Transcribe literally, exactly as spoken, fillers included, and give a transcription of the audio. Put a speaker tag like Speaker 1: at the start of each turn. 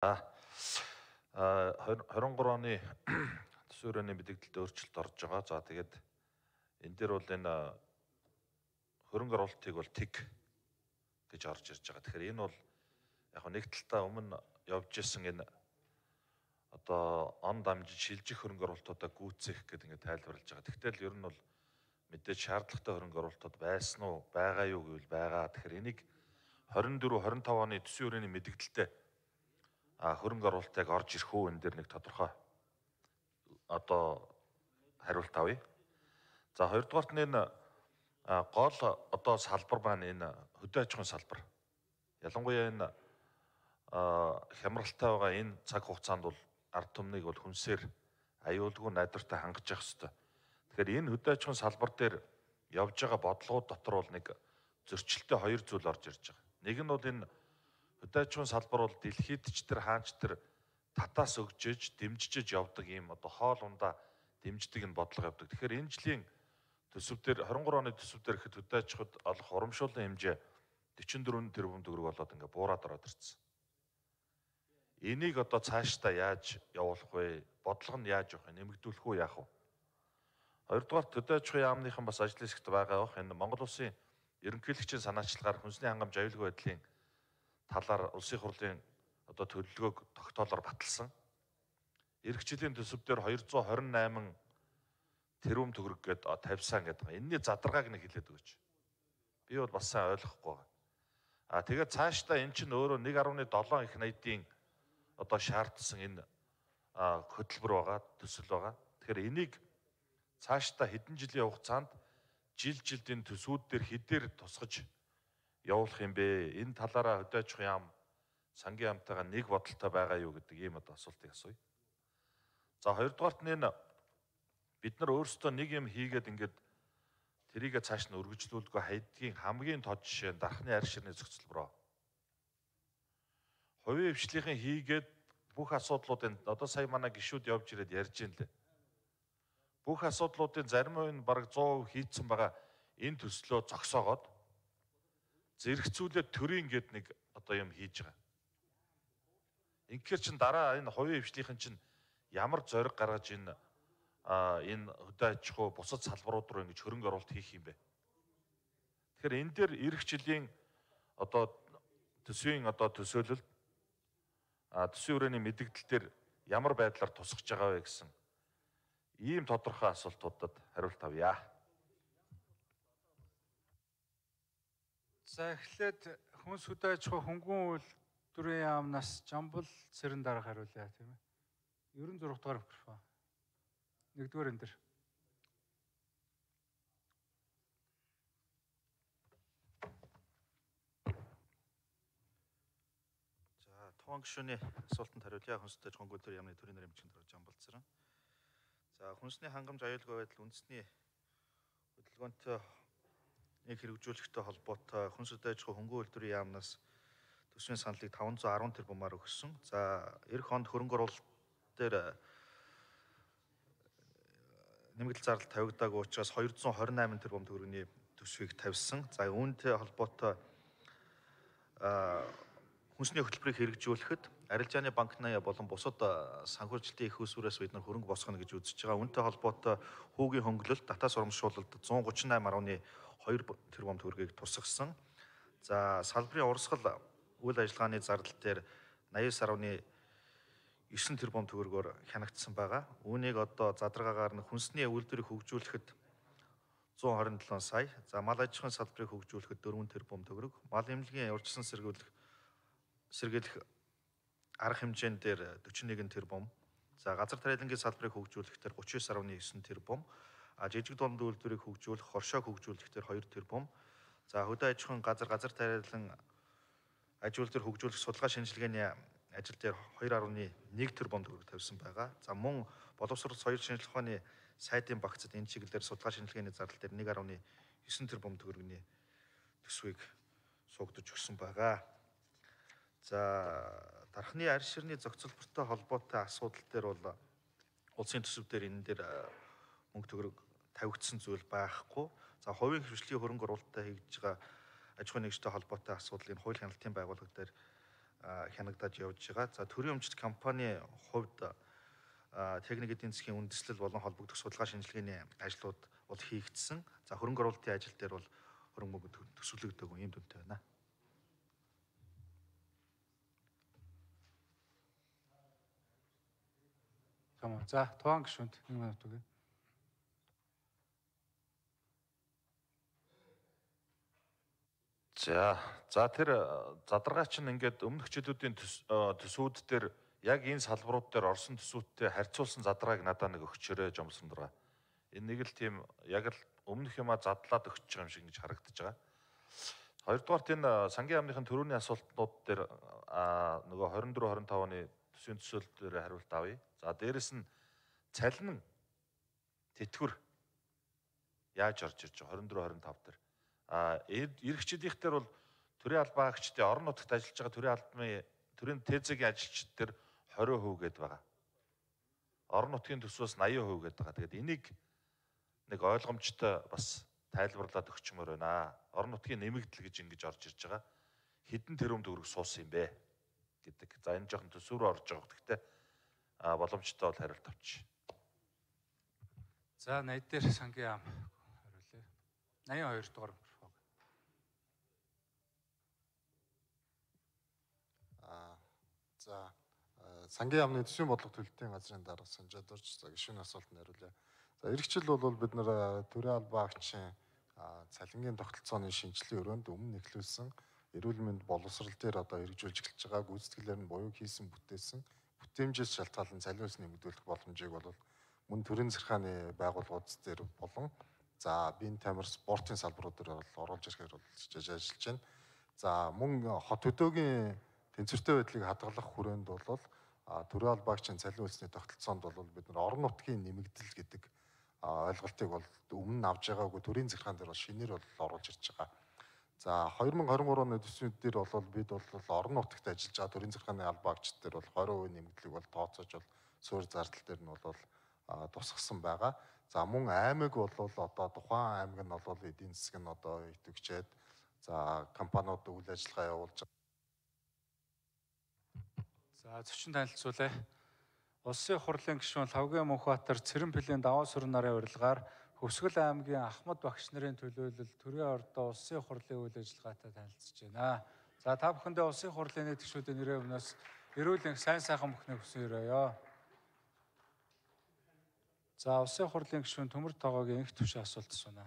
Speaker 1: А тwenty twenty-three оны төсвийн хүрээний мэдээлэлд өөрчлөлт орж байгаа. За тэгээд энэ дээр бол энэ хөрөнгө оруулалтыг бол тэг гэж орж ирж байгаа. Тэгэхээр энэ бол яг нэг талтаа өмнө явж исэн энэ одоо он дамжиж шилжих хөрөнгө оруулалтуудаа гүйцэх гэдэг ингээд тайлбарлаж байгаа. Тэгтэл ер нь бол мэдээж шаардлагатай хөрөнгө оруулалтууд байсан уу, байгаа юу гэвэл байгаа. Тэгэхээр энийг twenty-four twenty-five оны төсвийн хүрээний мэдээлэлтэй а хөрөнгө оруулалтыг орж ирэх үү энэ дээр нэг тодорхой одоо хариулт авъя. За хоёрдугаарт нь энэ гол одоо салбар маань энэ хөдөө аж ахуйн салбар. Ялангуяа энэ хямралтай байгаа энэ цаг хугацаанд бол ард түмнийг бол хүнсээр аюулгүй найдвартай хангаж явах хэрэгтэй. Тэгэхээр энэ хөдөө аж ахуйн салбар дээр явж байгаа бодлогууд дотор бол нэг зөрчилтэй хоёр зүйл орж ирж байгаа. Нэг нь бол энэ хөдөө аж ахуйн салбар бол дэлхийд ч тэр хаач тэр татаас өгжиж, дэмжиж явдаг ийм одоо хоол ундаа дэмждэг энэ бодлого явдаг. Тэгэхээр энэ жилийн төсөв дээр twenty-three оны төсөв дээр ихэд хөдөө аж ахуйд олох урамшууллын хэмжээ forty-four тэрбум төгрөг болоод ингээ буураад ороод ирсэн. Энийг одоо цаашдаа яаж явуулах вэ? Бодлого нь яаж явах вэ? Нэмэгдүүлэх үү яах вэ? Хоёрдугаар хөдөө аж ахуйн яамныхан бас ажил хэсэгт байгаа бох энэ Монгол Улсын ерөнхийлөгчийн санаачлагаар хүнсний хангамж аюулгүй байдлын талаар улсын хурлын одоо төлөвлөгөөг тогтоолоор баталсан. Ирэх жилийн төсөв дээр two hundred twenty-eight тэрбум төгрөг гээд тавьсан гэдэг байгаа. Энэний задаргааг нэг хэлээд өгөөч. Би бол бас сайн ойлгохгүй байгаа. А тэгээд цаашдаа эн чинь өөрөө one point seven их найдын одоо шаардсан энэ хөтөлбөр байгаа, төсөл байгаа. Тэгэхээр энийг цаашдаа хэдэн жилийн хугацаанд жил жилд энэ төсвүүд дээр хэдээр тусгаж явуулах юм бэ? Энэ талаараа хөдөө аж ахуйн яам сангийн яамтайгаа нэг бодолтой байгаа юу гэдэг ийм одоо асуултыг асууя. За хоёрдугаарт нь энэ бид нар өөрсдөө нэг юм хийгээд ингээд тэрийгэ цааш нь өргөжлүүлгүй хайдгийн хамгийн тод жишээ нь дархны арь ширний зохицол руу. Хувийн хвшлийнхэн хийгээд бүх асуудлуудын одоо сая манай гишүүд явж ирээд ярьж ин лээ. Бүх асуудлуудын зарим нь бараг one hundred percent хийцэн байгаа энэ төслөө зогсоогоод зэрэгцүүлээд төрийн гээд нэг одоо юм хийж байгаа. Инхээр чин дараа энэ хувийн хвшлийнхэн чин ямар зориг гаргаж энэ энэ хөдөө аж ахуй бусад салбарууд руу ингэж хөрөнгө оруулалт хийх юм бэ? Тэгэхээр энэ дээр эх жилийн одоо төсвийн одоо төсөөлөлд а төсвийн хүрээний мэдээлэл дээр ямар байдлаар тусгаж байгаа вэ гэсэн ийм тодорхой асуултуудад хариулт авъя.
Speaker 2: За эхлээд хүнс хөдөө аж ахуй хөнгөн үйлдвэрийн яамнаас Жамбал Цэрэн дарга хариулъя тийм ээ. ninety-six дугаар микрофон. Нэгдүгээр энэ дэр.
Speaker 3: За тухайн гишүүний асуултанд хариулъя. Хүнс хөдөө аж ахуйн үйлдвэрийн яамны төрийн нэрийн бичгийн дарга Жамбал Цэрэн. За хүнсний хангамж аюулгүй байдал үндэсний хөдөлгөөнтэй нэг хэрэгжүүлэхтэй холбоотой хүнс хөдөө аж ахуй хөнгөн үйлдвэрийн яамнаас төсвийн саналыг five hundred ten тэрбумаар өгсөн. За эх онд хөрөнгө оруулалт дээр нэмэгдэл зардал тавигдаагүй учраас two hundred twenty-eight тэрбум төгрөгийн төсвийг тавьсан. За үүнтэй холбоотой хүнсний хөтөлбөрийг хэрэгжүүлэхэд арилжааны банкны болон бусад санхүүжилтийн их усүрээс бид нар хөрөнгө босгоно гэж үзэж байгаа. Үүнтэй холбоотой хүүгийн хөнгөлөлт, татаас урамшуулалт one thirty-eight point two тэрбум төгрөгийг тусгасан. За салбарын урсгал үйл ажиллагааны зардал дээр eighty-nine point nine тэрбум төгрөгөөр хянагдсан байгаа. Үүнийг одоо задаргаагаар нь хүнсний үйлдвэрийг хөгжүүлэхэд one twenty-seven сая, за мал аж ахуйн салбарыг хөгжүүлэхэд four тэрбум төгрөг, мал эмнэлгийн урьдчилан сэргийлэх сэргийлэх арга хэмжээнд дээр forty-one тэрбум, за газар тариалангийн салбарыг хөгжүүлэхдээ thirty-nine point nine тэрбум, а жижиг дунд үйлдвэрийг хөгжүүлэх, хоршоо хөгжүүлэхдээ two тэрбум, за хөдөө аж ахуйн газар газар тариалан аж үйлдвэр хөгжүүлэх судалгаа шинжилгээний ажил дээр two point one тэрбум төгрөг тавьсан байгаа. За мөн боловсрол соёл шинжилгээ ухааны сайдын багцад энэ чиглэлээр судалгаа шинжилгээний зардал дээр one point nine тэрбум төгрөгийн төсвийг суугдаж өгсөн байгаа. За дархны арь ширний зохицолбортой холбоотой асуудал дээр бол улсын төсөв дээр энэ дээр мөнгө төгрөг тавигдсан зүйл байхгүй. За хувийн хвшлийн хөрөнгө оруулалтаа хийж байгаа аж ахуйн нэгжтэй холбоотой асуудал энэ хууль хяналтын байгууллага дээр хянагдаж явж байгаа. За төрийн өмчит компани хувьд техник эдийн засгийн үндэслэл болон холбогдох судалгаа шинжилгээний ажлууд бол хийгдсэн. За хөрөнгө оруулалтын ажил дээр бол хөрөнгө мөнгө төсвөлөгдөг юм дүнтэй байна.
Speaker 2: Тамаа. За Тугаан гишүүнд нэг минут өгье.
Speaker 1: За за тэр задаргаач нь ингээд өмнөх жилүүдийн төсвүүд дээр яг энэ салбарууд дээр орсон төсвүүдтэй харьцуулсан задргааг надад нэг өгчөөрэй жомсон дураа. Энэ нэг л тийм яг л өмнөх юмаа задлаад өгч байгаа юм шиг ингэж харагдаж байгаа. Хоёрдугаарт энэ сангийн яамныхын төрөүний асуултнууд дээр нөгөө хорин дөрөв хорин тав оны төсвийн төсөөлөл дээр хариулт авъя. За дээрэс нь цалин тэтгэвэр яаж орж ирж байгаа хорин дөрөв хорин тав дээр. А эрхчлийнх дээр бол төрийн албаагчдын орон нутагт ажиллаж байгаа төрийн албаны төрийн ТЭЗ-ийн ажилчид дээр двадцать хувь гээд байгаа. Орон нутгийн төсвөөс восемьдесят хувь гээд байгаа. Тэгээд энийг нэг ойлгомжтой бас тайлбарлаад өгчмөр байна. Орон нутгийн нэмэгдэл гэж ингэж орж ирж байгаа. Хэдэн тэрбум төгрөг суусан юм бэ гэдэг. За энэ жоохон төсөв рүү орж байгаа. Гэхдээ а боломжтой бол хариулт авч.
Speaker 2: За найд дээр сангийн яам хариулъя. восемьдесят two дугаар микрофон.
Speaker 4: За сангийн яамны төсвийн бодлого төлөлтийн газрын дарга санжаад орж за гишүүний асуултанд хариулъя. За эх жил бол бид нэр төрийн албаагчийн цалингийн тогтолцооны шинжилгээ өрөөнд өмнө эхлүүлсэн эрүүл мэнд боловсрал дээр одоо хэрэгжүүлж эхэлж байгаа гүйцэтгэлээр нь буюу хийсэн бүтээсэн бүтээмжээс шалтгаалan цалин үлс нэмэгдүүлэх боломжийг бол мөн төрийн захиргааны байгууллагууд дээр болон за биеийн тамир спортын салбарууд дээр бол оруулж ирэхээр бол ажиллаж байна. За мөн хот хөдөөгийн тэнцвэртэй байдлыг хадгалах хүрээнд бол төрийн албаагчийн цалин үлсний тогтолцоонд бол бид нар орон нутгийн нэмэгдэл гэдэг ойлголтыг бол өмнө нь авж байгаагүй төрийн захиргаан дээр бол шинээр бол оруулж ирж байгаа. За two thousand twenty-three оны төсвүүд дээр бол бид бол орон нутагт ажиллаж байгаа төрийн захиргааны албаагчид дээр бол twenty хувь нэмэгдлийг бол тооцоож бол суурь зардал дээр нь бол тусгасан байгаа. За мөн аймаг бол одоо тухайн аймаг нь бол эдийн засаг нь одоо идэвхжээд за компаниуд үйл ажиллагаа явуулж байгаа.
Speaker 2: За зочин танилцуулъя. Улсын хурлын гишүүн Лавгийн Мөнхбаатар Цэрэн Пэлийн даваа сүрэн нарын урилгаар Хөвсгөл аймгийн Ахмад багш нарын төлөөлөл төрийн ордоо улсын хурлын үйл ажиллагаатай танилцж байна. За та бүхэндээ улсын хурлын нийт гишүүдийн нэрээ өмнөөс эрүүл энх сайн сайхан бүхнийг хүсэн өрөөё. За улсын хурлын гишүүн Төмөр Тогоогийн энх төвшин асуулт асууна.